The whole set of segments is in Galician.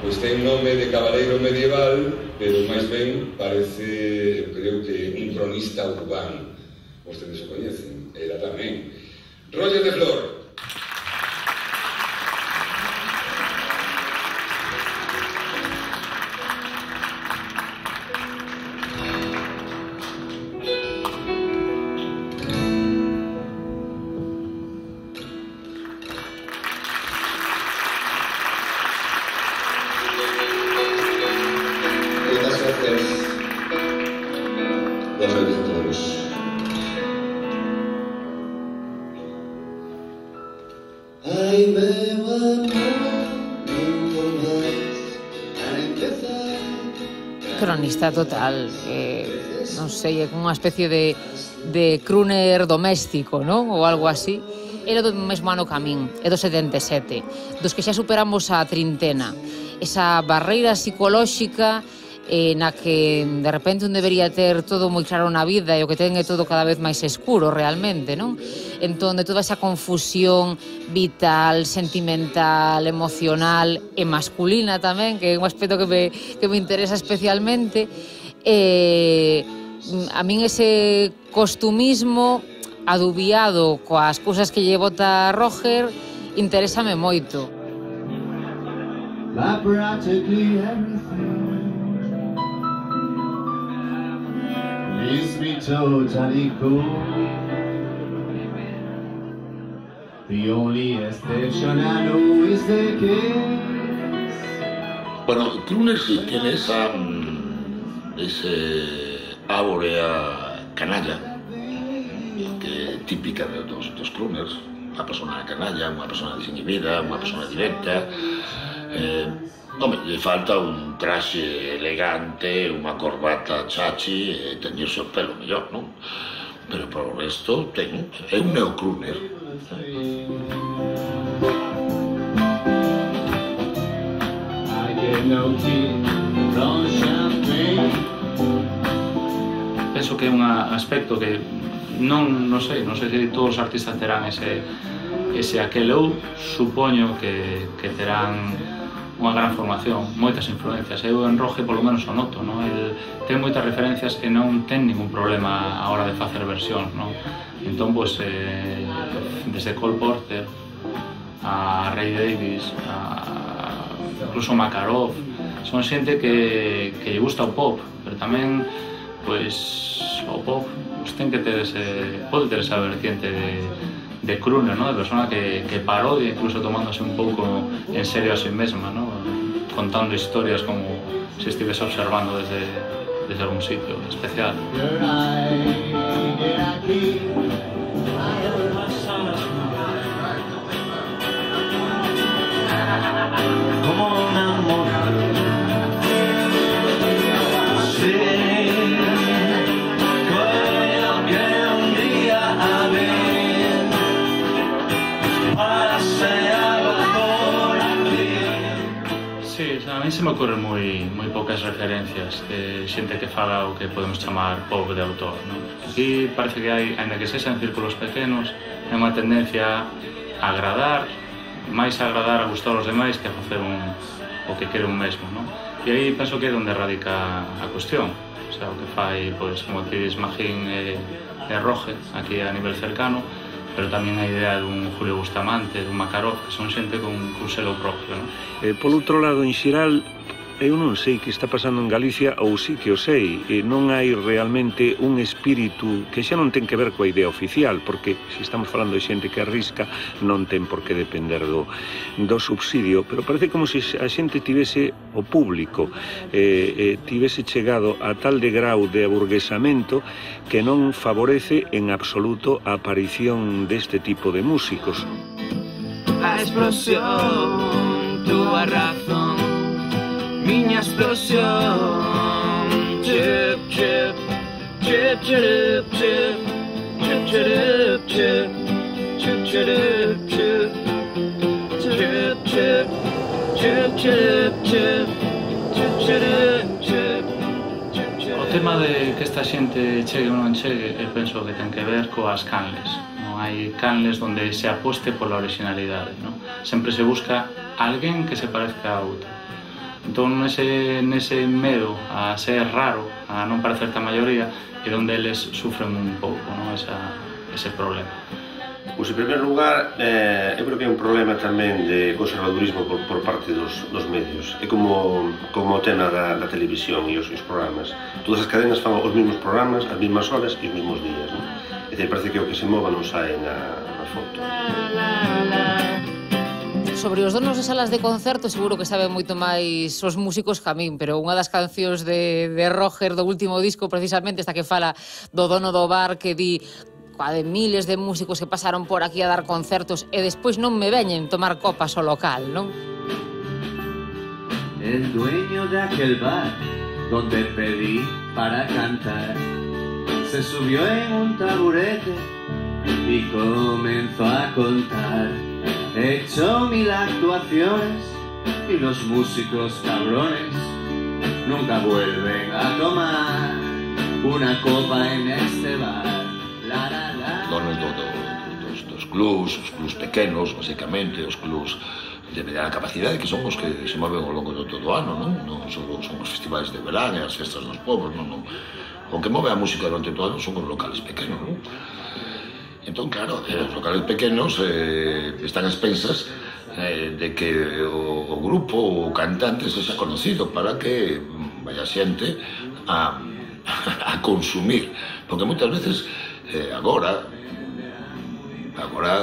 Pois ten nome de cabaleiro medieval, pero máis ben parece, creo que, un cronista urbano. Vostedes o coñecen, ela tamén. Roger de Flor. Cronista total, non sei, é unha especie de crooner doméstico, non? Ou algo así. Era do mesmo ano ca min, é do 77, dos que xa superamos a trintena. Esa barreira psicolóxica na que de repente un debería ter todo moi claro na vida e o que ten é todo cada vez máis escuro realmente, non? Entón, de toda esa confusión vital, sentimental, emocional e masculina tamén, que é un aspecto que me interesa especialmente, a min ese costumismo adubiado coas cousas que lle bota Roger interésame moito. Practically everything leaves me totally cool. The only exception I know is the case. Bueno, crooner tiene ese áurea canalla que é típica dos crooners. Unha persona canalla, unha persona desinhibida, unha persona directa. Lle falta un traxe elegante, unha corbata chachi e teñirse o pelo mellor, non? Pero por o resto é un neocrooner. Penso que é un aspecto que non sei se todos os artistas terán ese aquel. Eu supoño que terán unha gran formación, moitas influencias. Eu en Roger polo menos o noto, non? El ten moitas referencias e non ten ningún problema a hora de facer versións, non? Entón, pois, desde Cole Porter a Ray Davies, incluso Makarov, son xente que lle gusta o pop, pero tamén, pois, o pop ten que ter pode ter esa vertiente de crooner, ¿no? De persona que parodia, incluso tomándose un pouco en serio a sí mesma, ¿no? Contando historias como se estivese observando desde algún sitio especial. Como un amor. A mí se me ocurren moi poucas referencias de xente que fala o que podemos chamar pop de autor, non? Aquí parece que hai, ainda que sexa en círculos pequenos, é unha tendencia a agradar, máis a agradar, a gustar aos demais que a facer o que quere un mesmo, non? E aí penso que é onde radica a cuestión, o sea, o que fai, pois, como ti dis, Magín e Roger, aquí a nivel cercano, pero tamén a idea dun Julio Bustamante, dun Makarov, que son xente con selo propio, non? Por outro lado, en xeral, eu non sei que está pasando en Galicia, ou sí que o sei, non hai realmente un espírito que xa non ten que ver coa idea oficial, porque se estamos falando de xente que arrisca, non ten por que depender do subsidio, pero parece como se a xente tivese o público, tivese chegado a tal de grau de aburguesamento que non favorece en absoluto a aparición deste tipo de músicos. A explosión, túa razón, miña explosión. Chip, chip, chip, chip, chip, chip, chip, chip, chip, chip, chip, chip, chip, chip, chip, chip, chip, chip. O tema de que esta xente chegue ou non chegue, eu penso que ten que ver coas canles. Non hai canles onde se aposte pola originalidade, non? Sempre se busca alguén que se parezca a outro. Entón, nese medo a ser raro, a non parecer a maioría, é onde eles sufren un pouco, non? Ese problema. Pois, en primeiro lugar, eu creo que é un problema tamén de conservadurismo por parte dos medios. É como o tema da televisión e os programas. Todas as cadenas fan os mesmos programas, as mesmas horas e os mesmos días, non? É dicir, parece que o que se mova non sae na foto. Sobre os donos de salas de concerto seguro que saben moito máis os músicos que a min, pero unha das cancións de Roger do último disco, precisamente esta que fala do dono do bar que di de miles de músicos que pasaron por aquí a dar concertos e despois non me veñen tomar copas ao local, non? El dueño de aquel bar donde pedí para cantar se subió en un taburete y comenzó a contar. He hecho 1000 actuaciones y los músicos cabrones nunca vuelven a tomar una copa en este bar. Donos dos clubs, os clubs pequenos, basicamente, os clubs de mediana capacidade, que son os que se moven ao longo de todo o ano, non son os festivais de verán e as festas dos povos, non. O que move a música durante todo o ano son os locales pequenos, non? Entón, claro, os locales pequenos están a expensas de que o grupo, o cantante, sexa conocido para que vaya xente a consumir, porque moitas veces agora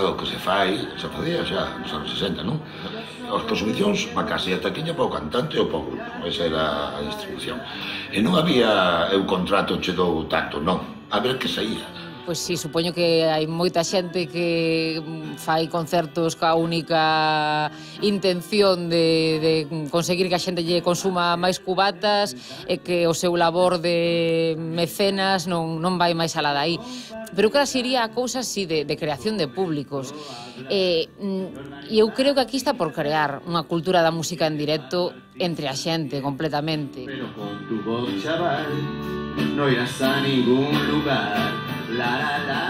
o que se facía xa nos anos 60, non? As consumicións, a casa e a taquiña para o cantante ou para o grupo, esa era a distribución. E non había o contrato che dou tanto, non, a ver que saía. Pois sí, supoño que hai moita xente que fai concertos ca única intención de conseguir que a xente lle consuma máis cubatas e que o seu labor de mecenas non vai máis alá dai. Pero claro, sería a cousa así de creación de públicos. E eu creo que aquí está por crear unha cultura da música en directo entre a xente completamente. Pero con tu voz, chaval, no irás a ningún lugar. La la la.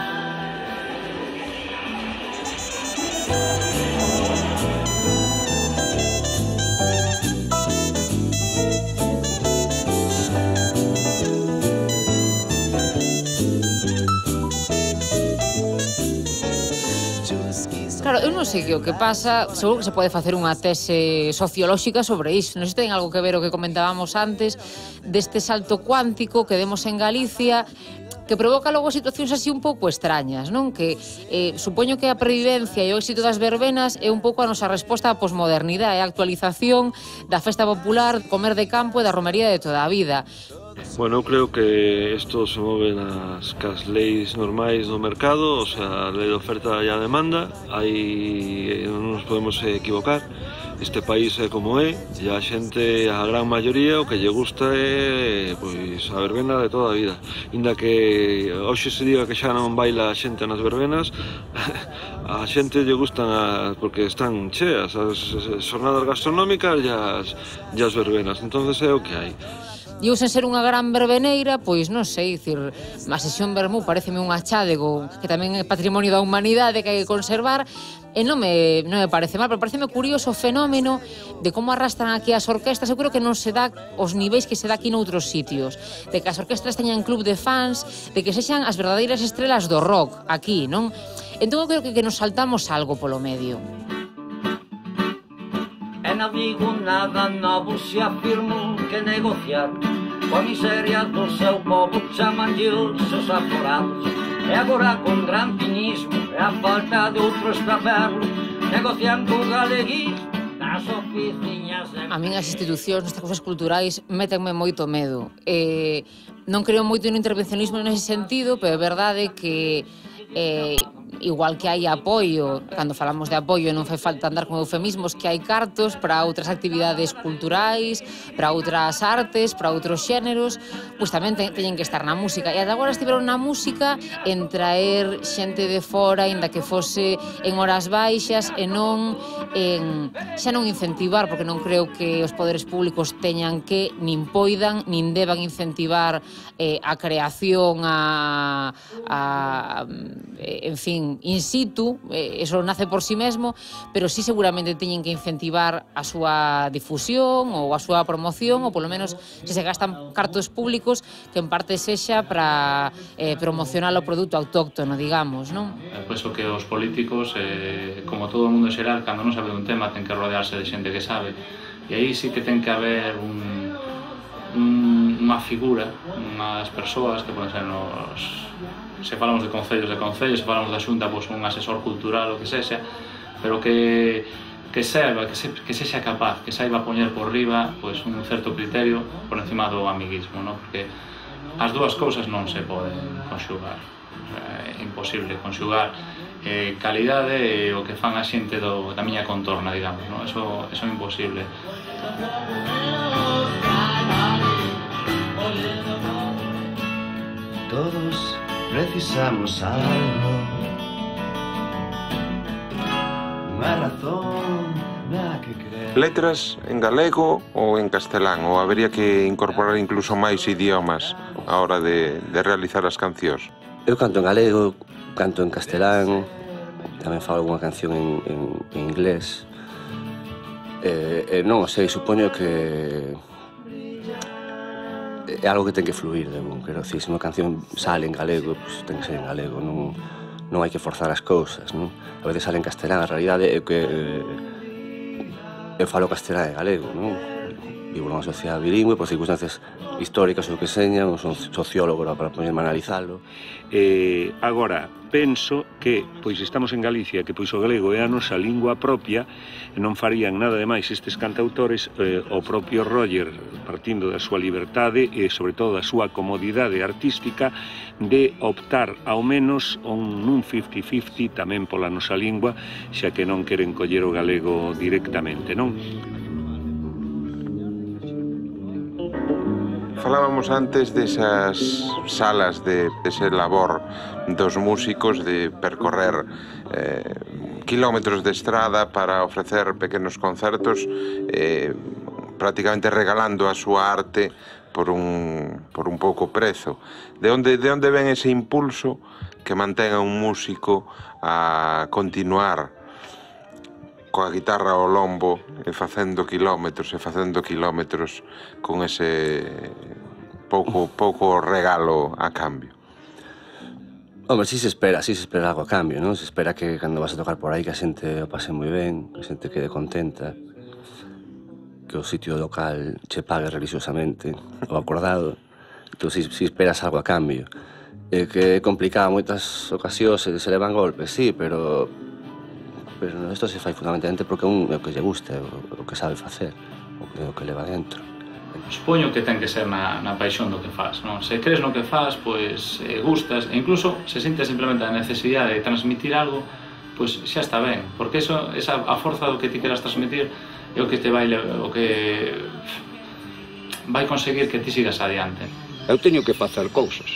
Claro, eu non sei que o que pasa, seguro que se pode facer unha tese sociolóxica sobre iso. Non sei se ten algo que ver o que comentábamos antes deste salto cuántico que demos en Galicia, que provoca logo situacións así un pouco extrañas, non? Que supoño que a previvencia e o éxito das verbenas é un pouco a nosa resposta á posmodernidade, a actualización da festa popular, comer de campo e da romería de toda a vida. Bueno, eu creo que isto se move cas leis normais do mercado, o sea, a lei de oferta e a demanda, non nos podemos equivocar. Este país é como é, e a xente, a gran maioría, o que lle gusta é pois, a verbena de toda a vida. Inda que hoxe se diga que xa non baila a xente nas verbenas, a xente lle gustan porque están cheas as xornadas gastronómicas e as verbenas, entonces é o que hai. E eu, sen ser unha gran verbeneira, pois non sei, dicir, a sesión Vermú pareceme un achádego que tamén é patrimonio da humanidade que hai que conservar, e non me parece mal, pero pareceme curioso o fenómeno de como arrastran aquí as orquestas. Eu creo que non se dá os niveis que se dá aquí noutros sitios, de que as orquestas teñan club de fans, de que sexan as verdadeiras estrelas do rock aquí, non? Entón eu creo que nos saltamos algo polo medio. E non digo nada novo se afirmo que negociar coa miseria do seu povo chamanlle os seus aforados. E agora con gran cinismo e a falta de outro estraperlo negocian co galeguismo nas oficinas de... A min as institucións, estas cousas culturais, métenme moito medo. Non creo moito no intervencionismo nese sentido, pero é verdade que igual que hai apoio, cando falamos de apoio non fai falta andar con eufemismos, que hai cartos para outras actividades culturais, para outras artes, para outros xéneros, pois tamén teñen que estar na música. E ata agora estiveron na música en traer xente de fora, inda que fose en horas baixas, e non xa non incentivar, porque non creo que os poderes públicos teñan que, nin poidan, nin deban incentivar a creación, en fin, in situ, eso nace por si mesmo, pero sí seguramente teñen que incentivar a súa difusión ou a súa promoción, ou polo menos se gastan cartos públicos que en parte sexa para promocionar o produto autóctono, digamos, non? Penso que os políticos, como todo o mundo en xeral, cando non sabe dun tema, ten que rodearse de xente que sabe, e aí sí que ten que haber unha figura, unhas persoas que poden ser se falamos de concellos, se falamos da Xunta, pois un asesor cultural ou que sexa, pero que serva, que sexa capaz, que saiba poñer por riba pois un certo criterio por encima do amiguismo, non? Porque as dúas cousas non se poden conxugar, é imposible conxugar calidade e o que fan a xente da miña contorna, digamos, non? Eso é imposible. Todos precisamos algo, unha razón na que creer. Letras en galego ou en castelán, ou habería que incorporar incluso máis idiomas a hora de realizar as cancións? Eu canto en galego, canto en castelán, tamén falo algunha canción en inglés. Non o sei, supoño que é algo que ten que fluir, quero dicir, se unha canción sale en galego, pues ten que ser en galego, non hai que forzar as cousas, non? A veces sale en castelán, a realidade é que eu falo castelán e galego, non? Vivo nunha sociedade bilingüe, por circunstancias históricas ou que señan, non son sociólogo para ponerme a analizalo. Agora, penso que, pois estamos en Galicia, que pois o galego é a nosa lingua propia, e non farían nada de máis estes cantautores, o propio Roger, partindo da súa liberdade e, sobre todo, da súa comodidade artística, de optar, ao menos, nun 50-50 tamén pola nosa lingua, xa que non queren coller o galego directamente, non? Falábamos antes desas salas de ese labor dos músicos de percorrer kilómetros de estrada para ofrecer pequenos concertos, prácticamente regalando a súa arte por un pouco prezo. De onde ven ese impulso que mantén a un músico a continuar coa guitarra ao lombo e facendo kilómetros con ese pouco regalo a cambio? Hombre, si se espera algo a cambio, non? Se espera que cando vas a tocar por aí que a xente o pase moi ben, que a xente quede contenta, que o sitio local che pague religiosamente o acordado. Entón, si esperas algo a cambio. É que é complicado moitas ocasións se levan golpes, sí, pero isto se fai fundamentalmente porque é o que lle gusta, o que sabe facer, o que leva dentro. Supoño que ten que ser na paixón do que faz, non? Se crees no que faz, pois gustas, e incluso se sintes simplemente a necesidade de transmitir algo, pois xa está ben, porque a forza do que ti queras transmitir é o que vai conseguir que ti sigas adiante. Eu teño que facer cousas,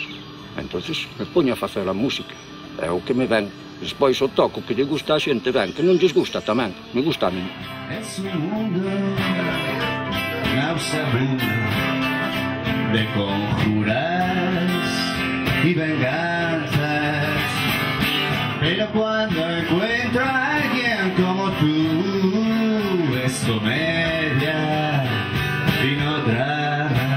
entonces me poño a facer a música, é o que me ven. Despois o toco que lle gusta a xente ben, que non lles gusta tamén, me gusta a mí. Es un mundo nauseabundo de conjuras y venganzas, pero cuando encuentro a alguien como tú es comedia y no drama.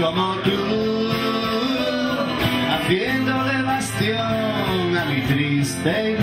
Como tú, haciéndole bastión a mi triste y